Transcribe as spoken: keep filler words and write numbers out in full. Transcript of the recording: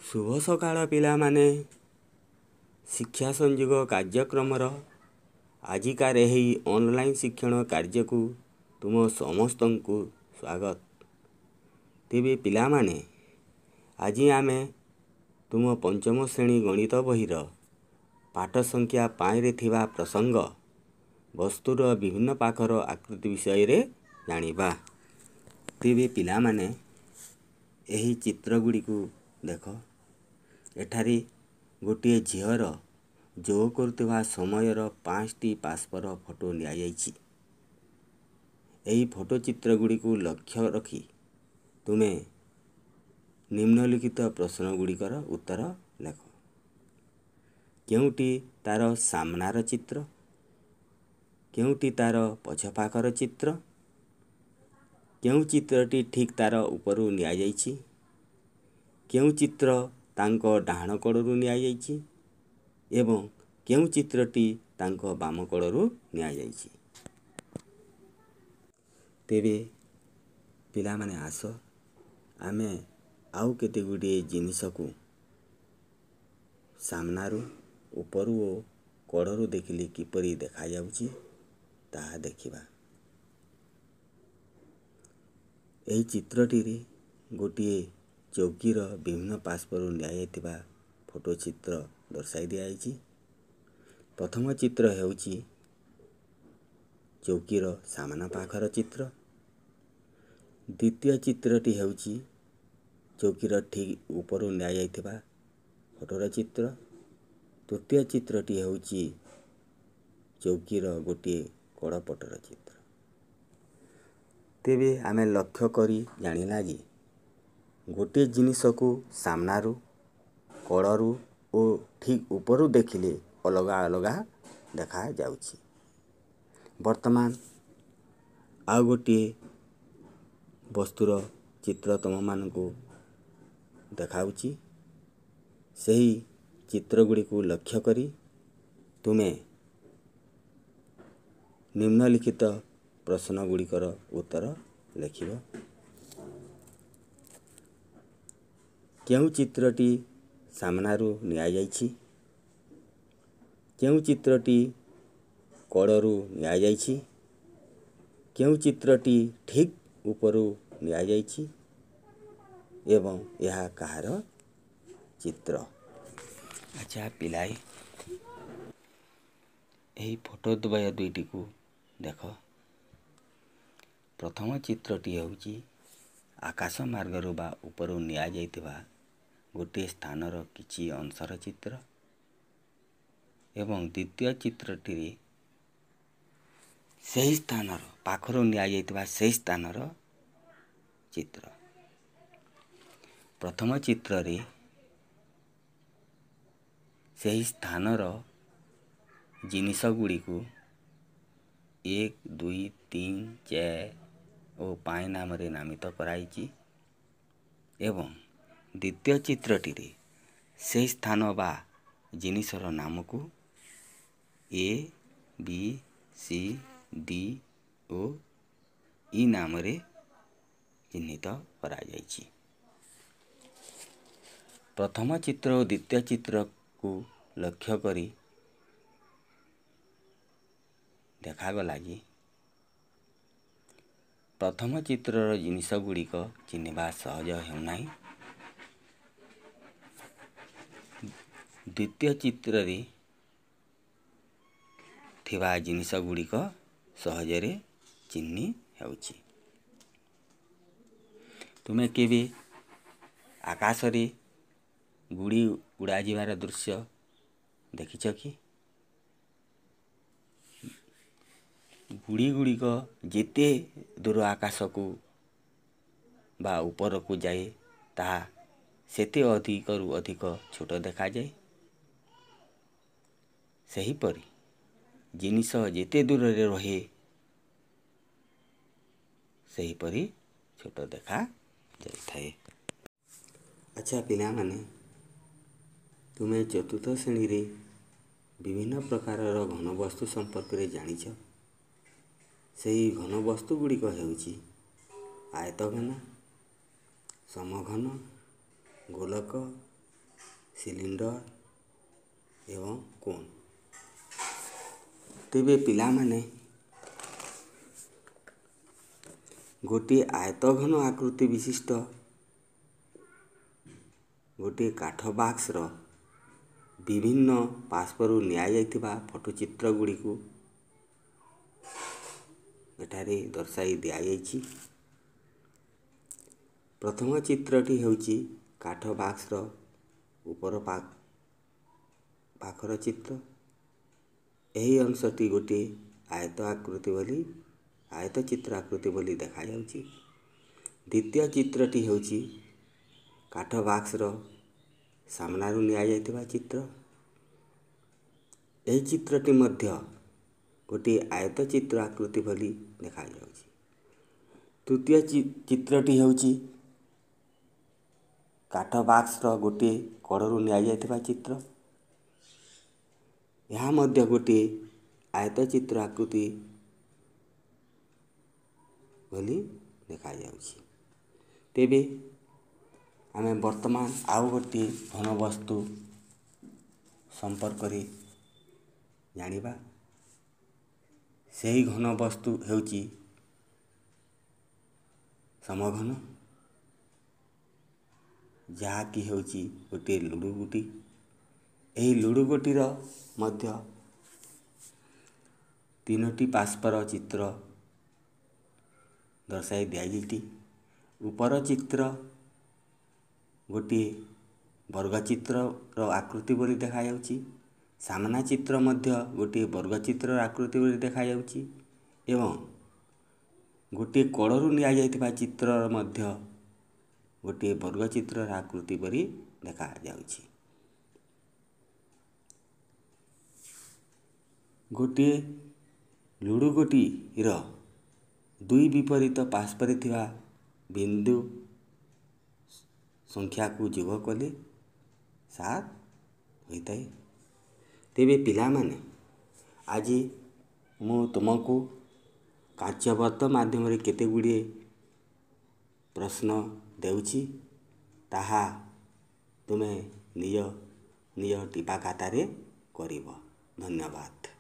ଶୁଭ ସକାଳ ପିଲାମାନେ। ଶିକ୍ଷା ସଂଯୋଗ କାର୍ଯ୍ୟକ୍ରମର ଆଜିକାର ଏହି ଅନଲାଇନ୍ ଶିକ୍ଷଣ କାର୍ଯ୍ୟକୁ ତୁମ ସମସ୍ତଙ୍କୁ ସ୍ୱାଗତ। ତେବେ ପିଲାମାନେ, ଆଜି ଆମେ ତୁମ ପଞ୍ଚମ ଶ୍ରେଣୀ ଗଣିତ ବହିର ପାଠ ସଂଖ୍ୟା ପାଞ୍ଚରେ ଥିବା ପ୍ରସଙ୍ଗ ବସ୍ତୁର ବିଭିନ୍ନ ପାଖର ଆକୃତି ବିଷୟରେ ଜାଣିବା। ତେବେ ପିଲାମାନେ, ଏହି ଚିତ୍ରଗୁଡ଼ିକୁ ଦେଖ। ଏଠାରେ ଗୋଟିଏ ଝିଅର ଯୋଗ କରୁଥିବା ସମୟର ପାଞ୍ଚଟି ପାସ୍ପର ଫଟୋ ନିଆଯାଇଛି। ଏହି ଫଟୋ ଚିତ୍ରଗୁଡ଼ିକୁ ଲକ୍ଷ୍ୟ ରଖି ତୁମେ ନିମ୍ନଲିଖିତ ପ୍ରଶ୍ନଗୁଡ଼ିକର ଉତ୍ତର ଲେଖ। କେଉଁଟି ତା'ର ସାମ୍ନାର ଚିତ୍ର, କେଉଁଟି ତା'ର ପଛ ପାଖର ଚିତ୍ର, କେଉଁ ଚିତ୍ରଟି ଠିକ୍ ତା'ର ଉପରୁ ନିଆଯାଇଛି, କେଉଁ ଚିତ୍ର ତାଙ୍କ ଡାହାଣ କଡ଼ରୁ ନିଆଯାଇଛି ଏବଂ କେଉଁ ଚିତ୍ରଟି ତାଙ୍କ ବାମ କଡ଼ରୁ ନିଆଯାଇଛି। ତେବେ ପିଲାମାନେ, ଆସ ଆମେ ଆଉ କେତେ ଗୁଡ଼ିଏ ଜିନିଷକୁ ସାମ୍ନାରୁ, ଉପରୁ ଓ କଡ଼ରୁ ଦେଖିଲେ କିପରି ଦେଖାଯାଉଛି ତାହା ଦେଖିବା। ଏହି ଚିତ୍ରଟିରେ ଗୋଟିଏ ଚୌକିର ବିଭିନ୍ନ ପାର୍ଶ୍ୱରୁ ନିଆଯାଇଥିବା ଫଟୋ ଚିତ୍ର ଦର୍ଶାଇ ଦିଆଯାଇଛି। ପ୍ରଥମ ଚିତ୍ର ହେଉଛି ଚୌକିର ସାମ୍ନା ପାଖର ଚିତ୍ର, ଦ୍ୱିତୀୟ ଚିତ୍ରଟି ହେଉଛି ଚୌକିର ଠିକ୍ ଉପରୁ ନିଆଯାଇଥିବା ଫଟୋର ଚିତ୍ର, ତୃତୀୟ ଚିତ୍ରଟି ହେଉଛି ଚୌକିର ଗୋଟିଏ କଡ଼ ପଟର ଚିତ୍ର। ତେବେ ଆମେ ଲକ୍ଷ୍ୟ କରି ଜାଣିଲା ଯେ ଗୋଟିଏ ଜିନିଷକୁ ସାମ୍ନାରୁ, କଡ଼ରୁ ଓ ଠିକ୍ ଉପରୁ ଦେଖିଲେ ଅଲଗା ଅଲଗା ଦେଖାଯାଉଛି। ବର୍ତ୍ତମାନ ଆଉ ଗୋଟିଏ ବସ୍ତୁର ଚିତ୍ର ତୁମମାନଙ୍କୁ ଦେଖାଉଛି। ସେହି ଚିତ୍ରଗୁଡ଼ିକୁ ଲକ୍ଷ୍ୟ କରି ତୁମେ ନିମ୍ନଲିଖିତ ପ୍ରଶ୍ନଗୁଡ଼ିକର ଉତ୍ତର ଲେଖିବ। କେଉଁ ଚିତ୍ରଟି ସାମ୍ନାରୁ ନିଆଯାଇଛି, କେଉଁ ଚିତ୍ରଟି କଡ଼ରୁ ନିଆଯାଇଛି, କେଉଁ ଚିତ୍ରଟି ଠିକ୍ ଉପରୁ ନିଆଯାଇଛି ଏବଂ ଏହା କାହାର ଚିତ୍ର? ଆଚ୍ଛା ପିଲାଏ, ଏହି ଫଟୋ ଦ୍ୱୟ ଦୁଇଟିକୁ ଦେଖ। ପ୍ରଥମ ଚିତ୍ରଟି ହେଉଛି ଆକାଶ ମାର୍ଗରୁ ବା ଉପରୁ ନିଆଯାଇଥିବା ଗୋଟିଏ ସ୍ଥାନର କିଛି ଅଂଶର ଚିତ୍ର ଏବଂ ଦ୍ୱିତୀୟ ଚିତ୍ରଟିରେ ସେହି ସ୍ଥାନର ପାଖରୁ ନିଆଯାଇଥିବା ସେହି ସ୍ଥାନର ଚିତ୍ର। ପ୍ରଥମ ଚିତ୍ରରେ ସେହି ସ୍ଥାନର ଜିନିଷ ଗୁଡ଼ିକୁ ଏକ, ଦୁଇ, ତିନି, ଚାରି ଓ ପାଞ୍ଚ ନାମରେ ନାମିତ କରାଯାଇଛି ଏବଂ ଦ୍ୱିତୀୟ ଚିତ୍ରଟିରେ ସେହି ସ୍ଥାନ ବା ଜିନିଷର ନାମକୁ ଏ, ବି, ସି, ଡି ଓ ଇ ନାମରେ ଚିହ୍ନିତ କରାଯାଇଛି। ପ୍ରଥମ ଚିତ୍ର ଓ ଦ୍ୱିତୀୟ ଚିତ୍ରକୁ ଲକ୍ଷ୍ୟ କରି ଦେଖାଗଲା ଯେ ପ୍ରଥମ ଚିତ୍ରର ଜିନିଷ ଗୁଡ଼ିକ ଚିହ୍ନିବା ସହଜ ହେଉନାହିଁ, ଦ୍ୱିତୀୟ ଚିତ୍ରରେ ଥିବା ଜିନିଷ ଗୁଡ଼ିକ ସହଜରେ ଚିହ୍ନି ହେଉଛି। ତୁମେ କେବେ ଆକାଶରେ ଗୁଡ଼ି ଉଡ଼ାଯିବାର ଦୃଶ୍ୟ ଦେଖିଛ କି? ଗୁଡ଼ି ଗୁଡ଼ିକ ଯେତେ ଦୂର ଆକାଶକୁ ବା ଉପରକୁ ଯାଏ, ତାହା ସେତେ ଅଧିକରୁ ଅଧିକ ଛୋଟ ଦେଖାଯାଏ। ସେହିପରି ଜିନିଷ ଯେତେ ଦୂରରେ ରହେ, ସେହିପରି ଛୋଟ ଦେଖା ଯାଇଥାଏ। ଆଚ୍ଛା ପିଲାମାନେ, ତୁମେ ଚତୁର୍ଥ ଶ୍ରେଣୀରେ ବିଭିନ୍ନ ପ୍ରକାରର ଘନବସ୍ତୁ ସମ୍ପର୍କରେ ଜାଣିଛ। ସେହି ଘନବସ୍ତୁ ଗୁଡ଼ିକ ହେଉଛି ଆୟତଘନ, ସମଘନ, ଗୋଲକ, ସିଲିଣ୍ଡର ଏବଂ କୋନ୍। ତେବେ ପିଲାମାନେ, ଗୋଟିଏ ଆୟତଘନ ଆକୃତି ବିଶିଷ୍ଟ ଗୋଟିଏ କାଠ ବାକ୍ସର ବିଭିନ୍ନ ପାର୍ଶ୍ୱରୁ ନିଆଯାଇଥିବା ଫଟୋଚିତ୍ର ଗୁଡ଼ିକୁ ଏଠାରେ ଦର୍ଶାଇ ଦିଆଯାଇଛି। ପ୍ରଥମ ଚିତ୍ରଟି ହେଉଛି କାଠ ବାକ୍ସର ଉପର ପାଖର ଚିତ୍ର। ଏହି ଅଂଶଟି ଗୋଟିଏ ଆୟତ ଆକୃତି ବୋଲି, ଆୟତ ଚିତ୍ର ଆକୃତି ବୋଲି ଦେଖାଯାଉଛି। ଦ୍ୱିତୀୟ ଚିତ୍ରଟି ହେଉଛି କାଠ ବାକ୍ସର ସାମ୍ନାରୁ ନିଆଯାଇଥିବା ଚିତ୍ର। ଏହି ଚିତ୍ରଟି ମଧ୍ୟ ଗୋଟିଏ ଆୟତ ଚିତ୍ର ଆକୃତି ବୋଲି ଦେଖାଯାଉଛି। ତୃତୀୟ ଚିତ୍ରଟି ହେଉଛି କାଠ ବାକ୍ସର ଗୋଟିଏ କଡ଼ରୁ ନିଆଯାଇଥିବା ଚିତ୍ର। ଏହା ମଧ୍ୟ ଗୋଟିଏ ଆୟତ ଚିତ୍ର ଆକୃତି ବୋଲି ଦେଖାଯାଉଛି। ତେବେ ଆମେ ବର୍ତ୍ତମାନ ଆଉ ଗୋଟିଏ ଘନ ବସ୍ତୁ ସମ୍ପର୍କରେ ଜାଣିବା। ସେହି ଘନ ବସ୍ତୁ ହେଉଛି ସମଘନ, ଯାହାକି ହେଉଛି ଗୋଟିଏ ଲୁଡ଼ୁ ଗୁଟି। ଏହି ଲୁଡ଼ୁ ଗୋଟିର ମଧ୍ୟ ତିନୋଟି ପାର୍ଶ୍ୱର ଚିତ୍ର ଦର୍ଶାଇ ଦିଆଯାଇଛି। ଉପର ଚିତ୍ର ଗୋଟିଏ ବର୍ଗଚିତ୍ରର ଆକୃତି ବୋଲି ଦେଖାଯାଉଛି। ସାମ୍ନା ଚିତ୍ର ମଧ୍ୟ ଗୋଟିଏ ବର୍ଗଚିତ୍ରର ଆକୃତି ବୋଲି ଦେଖାଯାଉଛି ଏବଂ ଗୋଟିଏ କଡ଼ରୁ ନିଆଯାଇଥିବା ଚିତ୍ରର ମଧ୍ୟ ଗୋଟିଏ ବର୍ଗଚିତ୍ରର ଆକୃତି ପରି ଦେଖାଯାଉଛି। ଗୋଟିଏ ଲୁଡ଼ୁ ଗୋଟିର ଦୁଇ ବିପରୀତ ପାର୍ଶ୍ୱରେ ଥିବା ବିନ୍ଦୁ ସଂଖ୍ୟାକୁ ଯୋଗ କଲେ ସାତ ହୋଇଥାଏ। ତେବେ ପିଲାମାନେ, ଆଜି ମୁଁ ତୁମକୁ କାର୍ଯ୍ୟବଦ୍ଧ ମାଧ୍ୟମରେ କେତେ ଗୁଡ଼ିଏ ପ୍ରଶ୍ନ ଦେଉଛି, ତାହା ତୁମେ ନିଜ ନିଜ ଟିପା ଖାତାରେ କରିବ। ଧନ୍ୟବାଦ।